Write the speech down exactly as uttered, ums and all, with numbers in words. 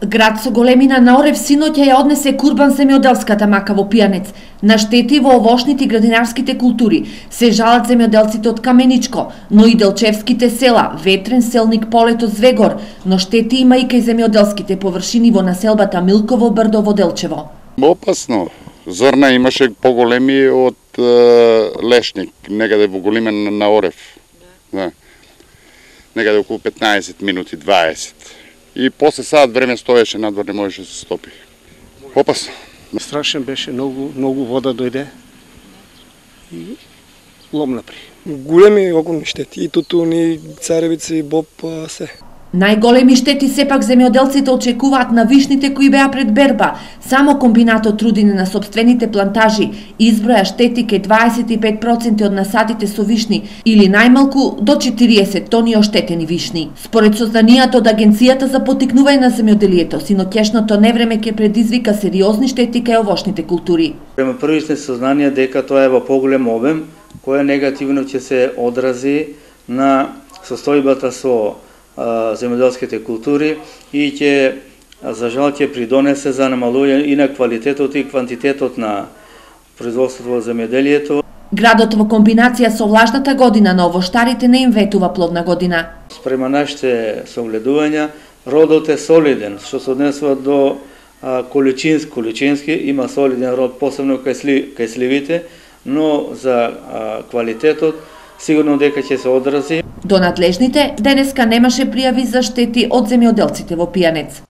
Град со големина на Орев синоќа ја однесе курбан земјоделската мака во Пијанец. На штети во овошните и градинарските култури се жалат земјоделците од Каменичко, но и делчевските села Ветрен, Селник, Полето, Звегор, но штети има и кај земјоделските површини во населбата Милково, Брдово, Делчево. Опасно. Зрна имаше поголеми од е, Лешник, некаде во големина на Орев. Да. Некаде околу петнаесет минути, дваесет. И после саат време стоеше надвор, не можеше да се стопи. Опасно. Страшен беше, многу, многу вода дојде и лом напри. Големи огромни штети, и тутуни, царевици, и боб, се. Најголеми штети сепак земјоделците очекуваат на вишните кои беа пред берба. Само комбинатот Рудине на сопствените плантажи изброја штети кај дваесет и пет проценти од насадите со вишни или најмалку до четириесет тони оштетени вишни. Според сознанијата од Агенцијата за поттикнување на земјоделието, синоќешното невреме ќе предизвика сериозни штети кај овошните култури. Према првите сознанија дека тоа е во поголем обем, која негативно ќе се одрази на состојбата со земјоделските култури и ќе, за жал, ќе придонесе за намалување и на квалитетот и квантитетот на производството во земјоделието. Градот во комбинација со влажната година на овоштарите не им ветува плодна година. Спрема нашите согледувања, родот е солиден, што се однесува до количински, количински има солиден род, посебно кај, сли, кај сливите, но за а, квалитетот сигурно дека ќе се одрази. До надлежните денеска немаше пријави за штети од земјоделците во Пијанец.